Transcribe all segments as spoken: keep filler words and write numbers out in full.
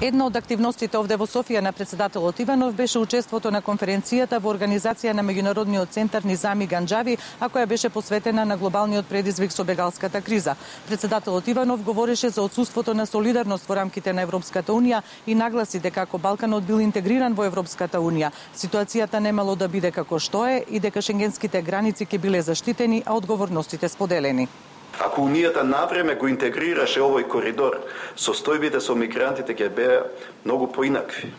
Една од активностите овде во Софија на председателот Иванов беше учеството на конференцијата во организација на Меѓународниот центар Низами Ганџави, а која беше посветена на глобалниот предизвик со бегалската криза. Председателот Иванов говореше за отсуството на солидарност во рамките на Европската унија и нагласи дека ако Балканот бил интегриран во Европската унија, ситуацијата немало да биде како што е и дека шенгенските граници ќе биле заштитени, а одговорностите споделени. Ако Унијата навреме го интегрираше овој коридор, состојбите со мигрантите ќе беа многу поинакви.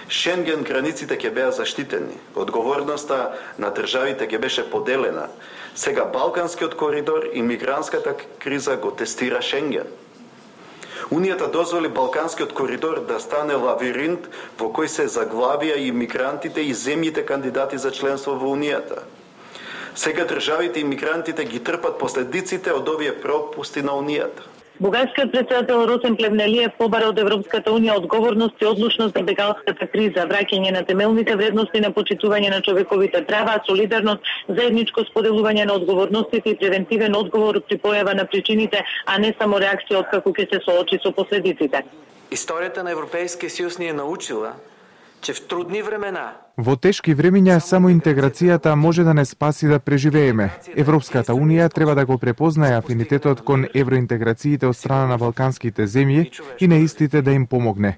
Шенген границите ќе беа заштитени, одговорноста на државите ќе беше поделена. Сега Балканскиот коридор и мигрантската криза го тестира Шенген. Унијата дозволи Балканскиот коридор да стане лавиринт во кој се заглавија и мигрантите и земјите кандидати за членство во Унијата. Сега државите и мигрантите ги трпат последиците од овие пропусти на Унијата. Бугарскиот председател Росен Плевнелиев побара од Европската унија одговорност и одлучност за бегалската криза, враќање на темелните вредности на почитување на човековите права, солидарност, заедничко споделување на одговорностите и превентивен одговор при појава на причините, а не само реакција откако ќе се соочи со последиците. Историјата на Европейскиот съюз ни е научила че в трудни времена Во тешки времиња само интеграцијата може да не спаси да преживееме. Европската унија треба да го препознае афинитетот кон евроинтеграциите од страна на балканските земји и на истите да им помогне.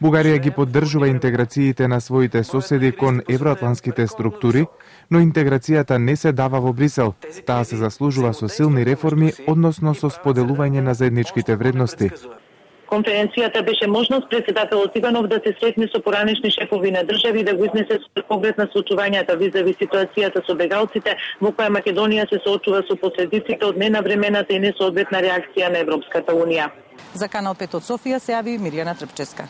Бугарија ги поддржува интеграциите на своите соседи кон евроатлантските структури, но интеграцијата не се дава во Брисел. Таа се заслужува со силни реформи, односно со споделување на заедничките вредности. Конференцијата беше можност председателот Иванов да се сретне со поранешни шефови на држави и да го изнесе со поглед на случувањата визави ситуацијата со бегалците, во која Македонија се соочува со последиците од ненавремената и несоодветна реакција на Европската унија. За Канал пет од Софија се јави Мирјана Трпческа.